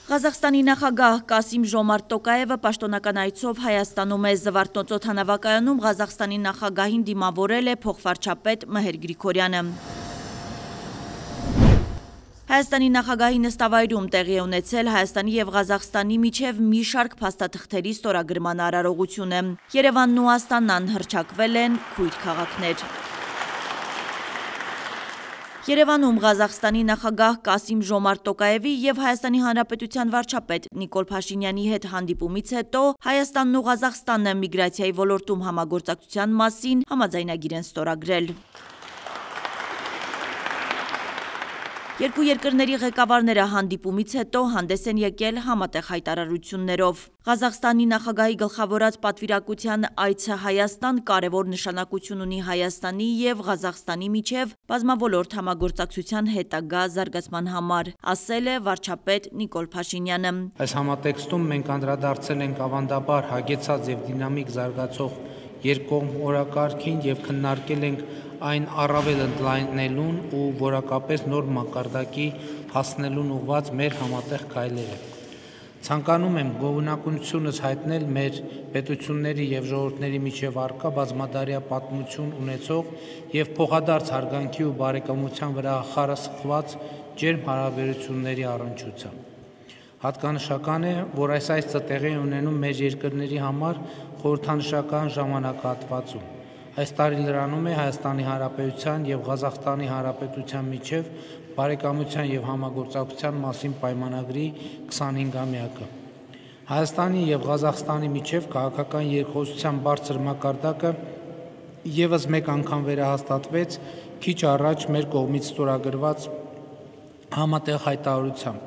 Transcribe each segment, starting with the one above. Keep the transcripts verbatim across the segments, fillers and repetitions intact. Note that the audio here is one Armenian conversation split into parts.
Ղազախստանի նախագահ Կասիմ Ժոմարտ Տոկաևը պաշտոնական այցով Հայաստանում է։ Զվարթնոց օդանավակայանում Ղազախստանի նախագահին դիմավորել է փոխվարչապետ Մհեր Գրիգորյանը։ Հայաստանի նախագահի նստավայրում տեղի է ունեցել Հայաստանի և Ղազախստանի միջև մի շարք փաստաթղթերի ստորագրման արարողությունը։ Երևանն ու Աստանան հռչակվել են քույր քաղաքներ։ Երևանում Ղազախստանի նախագահ Կասիմ Ժոմարտ Տոկաևի և Հայաստանի Հանրապետության վարչապետ Նիկոլ Փաշինյանի հետ հանդիպումից հետո Հայաստանն ու Ղազախստանը միգրացիայի ոլորտում համագործակցության մասին համաձայնագիր են ստորագրել։ Երկու երկրների ղեկավարները հանդիպումից հետո հանդես են եկել համատեղ հայտարարություններով։ Ղազախստանի նախագահի գլխավորած պատվիրակության այցը Հայաստան կարևոր նշանակություն ունի Հայաստանի և Ղազախստանի միջև բազմաոլորտ համագործակցության հետագա զարգացման համար, ասել է վարչապետ Նիկոլ Փաշինյանը։ Այս համատեքստում մենք անդրադարձել ենք ավանդաբար հագեցած և դինամիկ զարգացող երկկողմ օրակարգին և քննարկել ենք այն առավել ընդլայնելուն ու որակապես նոր մակարդակի հասնելուն ուղղված մեր համատեղ քայլերը։ Ցանկանում եմ գոհունակությունս հայտնել մեր պետությունների և ժողովուրդների միջև առկա բազմադարյա պատմություն ունեցող և փոխադարձ հարգանքի ու բարեկամության վրա խարսխված ջերմ հարաբերությունների առնչությամբ։ Հատկանշական է, որ այս այցը տեղի է ունենում մեր երկրների համար խորհրդանշական ժամանակահատվածում։ Այս տարի լրանում է Հայաստանի Հանրապետության և Ղազախստանի Հանրապետության միջև բարեկամության և համագործակցության մասին պայմանագրի քսանհինգամյակը։ Հայաստանի և Ղազախստանի միջև քաղաքական երկխոսության բարձր մակարդակը ևս մեկ անգամ վերահաստատվեց քիչ առաջ մեր կողմից ստորագրված համատեղ հայտարարությամբ,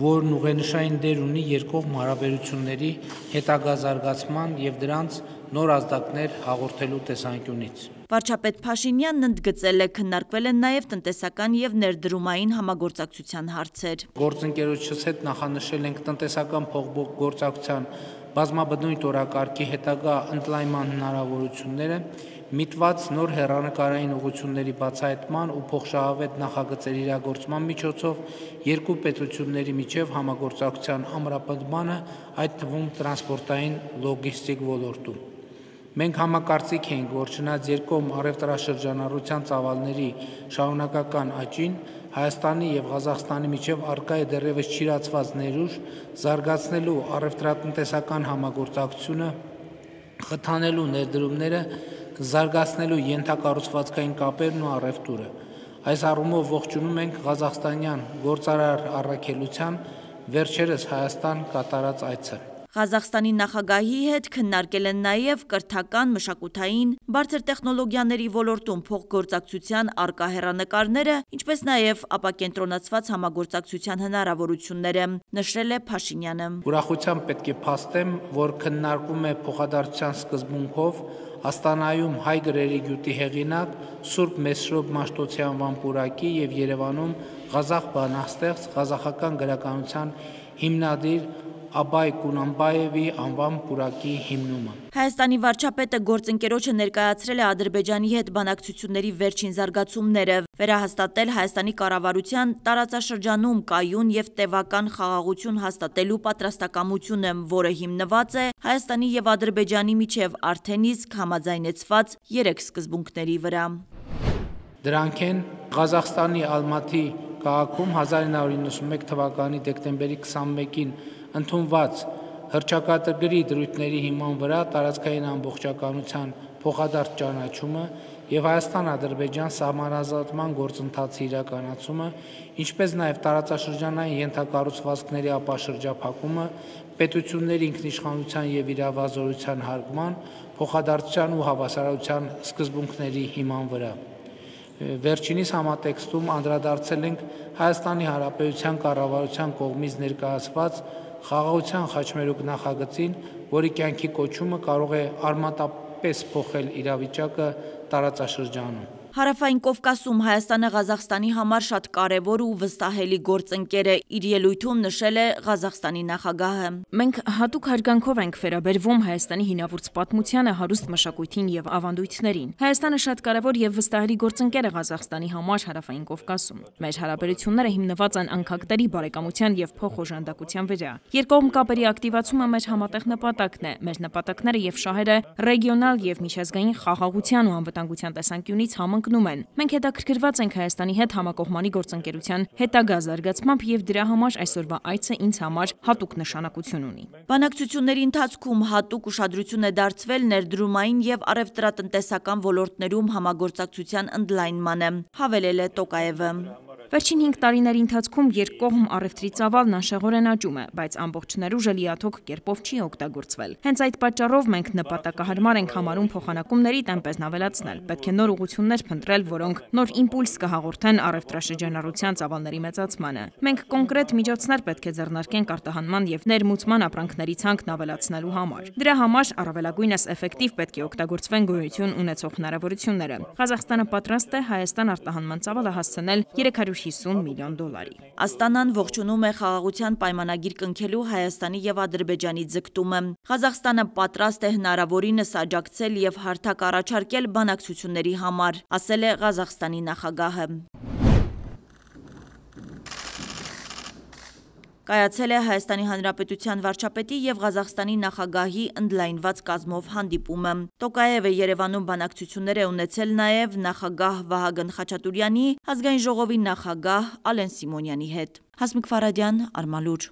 որն ուղենշային դեր ունի երկկողմ հարաբերությունների հետագա զարգացման և դրանց նոր ազդակներ հաղորդելու տեսանկյունից։ Վարչապետ Փաշինյանն ընդգծել է, քննարկվել են նաև տնտեսական և ներդրումային համագործակցության հարցեր։ Գործընկերոջս հետ նախանշել ենք տնտեսական փոխգործակցության բազմաբնույթ օրակարգի հետագա ընդլայնման հնարավորությունները, միտված նոր հեռանկարային ուղղությունների բացահայտման ու փոխշահավետ նախագծերի իրագործման միջոցով երկու պետությունների միջև համագործակցության ամրապնդմանը, այդ թվում տրանսպորտային լոգիստիկ ոլորտում։ Մենք համակարծիք ենք, որ չնայած երկկողմ առևտրաշրջանառության ծավալների շարունակական աճին, Հայաստանի և Ղազախստանի միջև առկա է դեռևս չիրացված ներուժ զարգացնելու առևտրատնտեսական համագործակցությունը, խթանելու ներդրումները, զարգացնելու ենթակառուցվածքային կապերն ու առևտուրը։ Այս առումով ողջունում ենք ղազախստանյան գործարար առաքելության վերջերս Հայաստան կատարած այցը։ Ղազախստանի նախագահի հետ քննարկել են նաև կրթական, մշակութային, բարձր տեխնոլոգիաների ոլորտում փոխգործակցության առկա հեռանկարները, ինչպես նաև ապակենտրոնացված համագործակցության հնարավորությունները, նշել է Փաշինյանը։ Ուրախությամբ պետք է փաստեմ, որ քննարկվում է փոխադարձության սկզբունքով Աստանայում հայ գրերի գյուտի հեղինակ Սուրբ Մեսրոբ Մաշտոցի անվան պուրակի և Երևանում ղազախ բանաստեղծ, ղազախական գրականության հիմնադիր Աբայ Կունանբայևի անվան պուրակի հիմնումը։ Հայաստանի վարչապետը գործընկերոջը ներկայացրել է Ադրբեջանի հետ բանակցությունների վերջին զարգացումները, վերահաստատել Հայաստանի կառավարության տարածաշրջանում կայուն և տևական խաղաղություն հաստատելու պատրաստակամությունը, որը հիմնված է Հայաստանի և Ադրբեջանի միջև արդեն իսկ համաձայնեցված երեք սկզբունքների վրա։ Դրանք են Ղազախստանի Ալմաթի քաղաքում հազար ինը հարյուր իննսունմեկ թվականի դեկտեմբերի քսանմեկին ընդունված հռչակագրի դրույթների հիման վրա տարածքային ամբողջականության փոխադարձ ճանաչումը և Հայաստան-Ադրբեջան սահմանազատման գործընթացի իրականացումը, ինչպես նաև տարածաշրջանային ենթակառուցվածքների ապաշրջափակումը, պետությունների ինքնիշխանության և իրավազորության հարգման, փոխադարձության ու հավասարության սկզբունքների հիման վրա։ Վերջինիս համատեքստում անդրադարձել ենք Հայաստանի Հանրապետության կառավարության կողմից ներկայացված Խաղաղության խաչմերուկ նախագծին, որի կյանքի կոչումը կարող է արմատապես փոխել իրավիճակը տարածաշրջանում։ Հարավային Կովկասում Հայաստանը Ղազախստանի համար շատ կարևոր ու վստահելի գործընկեր է, իր ելույթում նշել է Ղազախստանի նախագահը։ Մենք հատուկ հարգանքով ենք վերաբերվում Հայաստանի հինավուրց պատմությանը, հարուստ մշակույթին եւ ավանդույթներին։ Հայաստանը շատ կարևոր եւ վստահելի գործընկեր է Ղազախստանի համար Հարավային Կովկասում։ Մեր հարաբերությունները հիմնված են անկախտերի բարեկամության եւ փոխօժանդակության վրա։ Երկկողմ կապերի ակտիվացումը մեր համատեղ նպատակն է։ Մեր նպատակները եւ շահերը ռեգիոնալ եւ միջազգային խաղաղության ու անվտանգության տեսանկյունից համընկնում են։ Մենք հետաքրքրված ենք Հայաստանի հետ համակողմանի գործընկերության հետագա զարգացմամբ եւ դրա համար այսօրվա այցը ինձ համար հատուկ նշանակություն ունի։ Բանակցությունների ընթացքում հատուկ ուշադրություն է դարձվել ներդրումային եւ առևտրատնտեսական ոլորտներում համագործակցության ընդլայնմանը, հավելել է Տոկաևը։ Վերջին հինգ տարիների ընթացքում երկկողմ առևտրի ծավալն անշեղորեն աճում է, բայց ամբողջ ներուժը լիաթոք կերպով չի օգտագործվել։ Հենց այդ պատճառով մենք նպատակահարմար ենք համարում փոխանակումների տեմպերն ավելացնել։ Պետք է նոր ուղղություններ փնտրել, որոնք նոր իմպուլս կհաղորդեն առևտրաշրջանառության ծավալների մեծացմանը։ Մենք կոնկրետ միջոցներ պետք է ձեռնարկենք արտահանման եւ ներմուծման ապրանքների ցանկն ավելացնելու համար։ Դրա համար առավելագույնս էֆեկտիվ պետք է օգտագործվեն գոյություն ունեցող հնարավորությունները։ Ղազախստանը պատրաստ է Հայաստան արտահանման ծավալը հասցնել երեք հարյուր հիսուն միլիոն դոլարի։ Աստանան ողջունում է խաղաղության պայմանագիր կնքելու Հայաստանի եւ Ադրբեջանի ձգտումը։ Ղազախստանը պատրաստ է հնարավորինս աջակցել եւ հարթակ առաջարկել բանակցությունների համար, ասել է Ղազախստանի նախագահը։ Կայացել է Հայաստանի Հանրապետության վարչապետի եւ Ղազախստանի նախագահի ընդլայնված կազմով հանդիպումը։ Տոկաևը Երևանում բանակցություններ է ունեցել նաեւ նախագահ Վահագն Խաչատուրյանի, ազգային ժողովի նախագահ Ալեն Սիմոնյանի հետ։ Հասմիկ Ֆարադյան, Արմալուր։